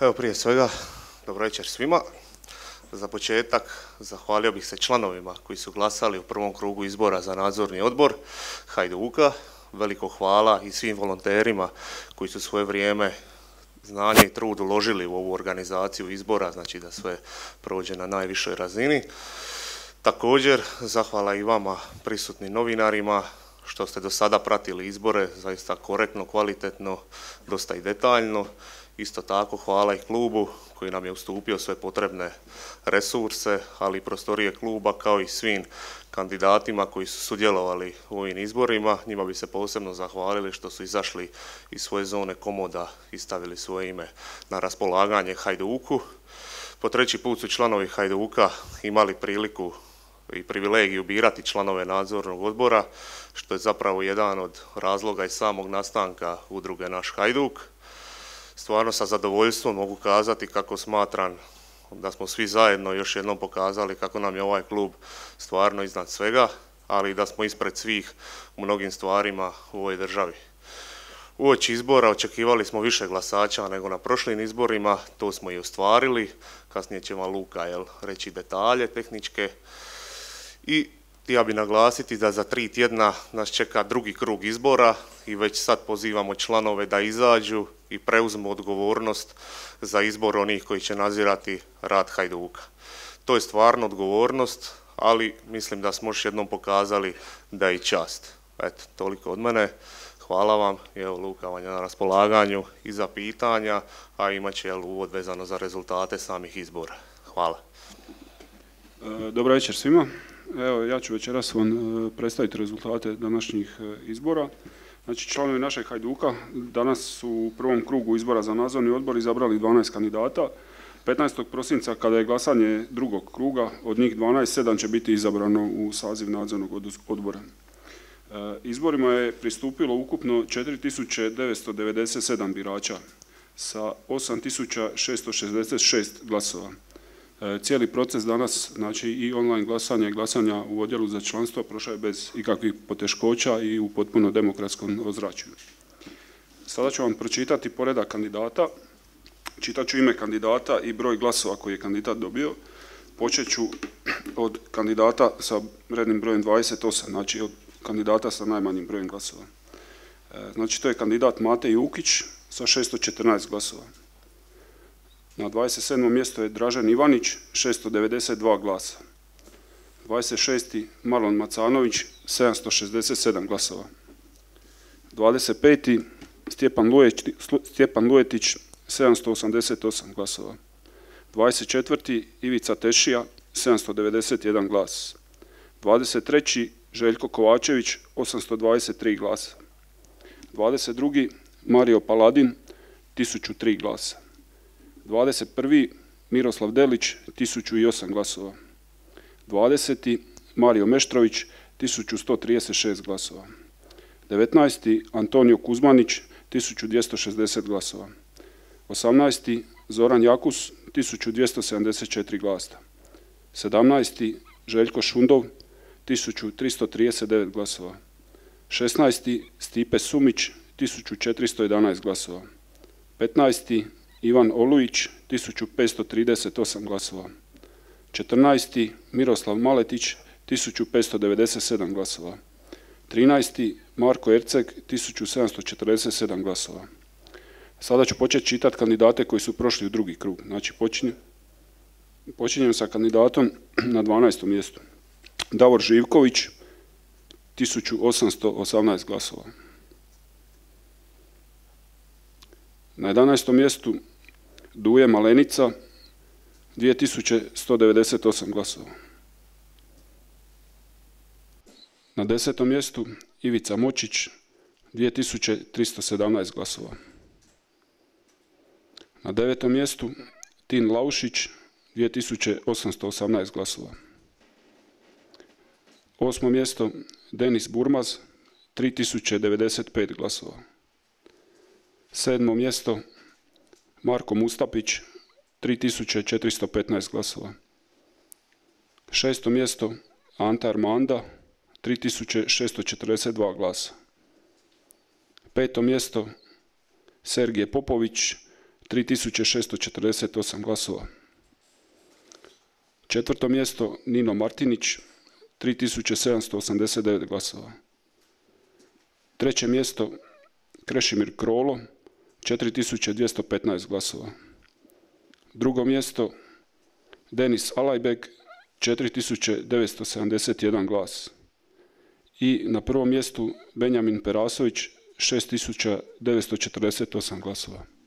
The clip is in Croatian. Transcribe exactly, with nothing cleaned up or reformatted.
Evo, prije svega, dobro večer svima. Za početak zahvalio bih se članovima koji su glasali u prvom krugu izbora za nadzorni odbor Hajduka. Veliko hvala i svim volonterima koji su svoje vrijeme, znanje i trud uložili u ovu organizaciju izbora, znači da sve prođe na najvišoj razini. Također, zahvala i vama prisutnim novinarima što ste do sada pratili izbore, zaista korektno, kvalitetno, dosta i detaljno. Isto tako hvala i klubu koji nam je ustupio sve potrebne resurse, ali i prostorije kluba kao i svim kandidatima koji su sudjelovali u ovim izborima. Njima bi se posebno zahvalili što su izašli iz svoje zone komoda i stavili svoje ime na raspolaganje Hajduku. Po treći put su članovi Hajduka imali priliku i privilegiju birati članove nadzornog odbora, što je zapravo jedan od razloga i samog nastanka udruge Naš Hajduk. Stvarno sa zadovoljstvom mogu kazati kako smatram da smo svi zajedno još jednom pokazali kako nam je ovaj klub stvarno iznad svega, ali i da smo ispred svih u mnogim stvarima u ovoj državi. Uoči izbora očekivali smo više glasača nego na prošlim izborima, to smo i ostvarili. Kasnije će vam Luka jel, reći detalje tehničke. I htio bih naglasiti da za tri tjedna nas čeka drugi krug izbora i već sad pozivamo članove da izađu i preuzmu odgovornost za izbor onih koji će nadzirati rad Hajduka. To je stvarno odgovornost, ali mislim da smo još jednom pokazali da je i čast. Eto, toliko od mene. Hvala vam i evo Luka vam je na raspolaganju i za pitanja, a imat će jel, uvod vezano za rezultate samih izbora. Hvala. Dobar večer svima. Evo, ja ću večeras vam predstaviti rezultate današnjih izbora. Znači, članovi našeg Hajduka danas su u prvom krugu izbora za nadzorni odbor izabrali dvanaest kandidata. petnaestog prosinca kada je glasanje drugog kruga, od njih dvanaest, sedam će biti izabrano u saziv nadzornog odbora. Izborima je pristupilo ukupno četiri tisuće devetsto devedeset sedam birača sa osam tisuća šesto šezdeset šest glasova. Cijeli proces danas, znači i online glasanja i glasanja u odjelu za članstvo prošao je bez ikakvih poteškoća i u potpuno demokratskom ozračju. Sada ću vam pročitati poredak kandidata. Čitat ću ime kandidata i broj glasova koji je kandidat dobio. Počet ću od kandidata sa rednim brojem dvadeset osam, znači od kandidata sa najmanjim brojem glasova. Znači to je kandidat Mate Jukić sa šesto četrnaest glasova. Na dvadeset sedmom mjestu je Dražen Ivanić, šesto devedeset dva glasa. dvadeset šesti Marlon Macanović, sedamsto šezdeset sedam glasova. dvadeset peti Stjepan Lujetić, sedamsto osamdeset osam glasova. dvadeset četvrti Ivica Tešija, sedamsto devedeset jedan glas. dvadeset treći Željko Kovačević, osamsto dvadeset tri glasa. dvadeset drugi Mario Paladin, tisuću tri glasa. dvadeset prvi Miroslav Delić, tisuću osam glasova. dvadeseti Mario Meštrović, tisuću sto trideset šest glasova. devetnaesti Antonio Kuzmanić, tisuću dvjesto šezdeset glasova. osamnaesti Zoran Jakus, tisuću dvjesto sedamdeset četiri glasa. sedamnaesti Željko Šundov, tisuću tristo trideset devet glasova. šesnaesti Stipe Sumić, tisuću četiristo jedanaest glasova. petnaesti Ivan Olujić, tisuću petsto trideset osam glasova. četrnaesti Miroslav Maletić, tisuću petsto devedeset sedam glasova. trinaesti Marko Erceg, tisuću sedamsto četrdeset sedam glasova. Sada ću početi čitati kandidate koji su prošli u drugi krug. Znači, počinjem, počinjem sa kandidatom na dvanaestom mjestu. Davor Živković, tisuću osamsto osamnaest glasova. Na jedanaestom mjestu Duje Malenica, dvije tisuće sto devedeset osam glasova. Na desetom mjestu Ivica Močić, dvije tisuće tristo sedamnaest glasova. Na devetom mjestu Tin Laušić, dvije tisuće osamsto osamnaest glasova. Osmo mjesto Denis Burmaz, tri tisuće devedeset pet glasova. Sedmo mjesto Marko Mustapić, tri tisuće četiristo petnaest glasova. Šesto mjesto Ante Armanda, tri tisuće šesto četrdeset dva glasa. Peto mjesto Sergije Popović, tri tisuće šesto četrdeset osam glasova. Četvrto mjesto Nino Martinić, tri tisuće sedamsto osamdeset devet glasova. Treće mjesto Krešimir Krolo, četiri tisuće dvjesto petnaest glasova. Drugo mjesto Denis Alajbek, četiri tisuće devetsto sedamdeset jedan glas. I na prvom mjestu Benjamin Perasović, šest tisuća devetsto četrdeset osam glasova.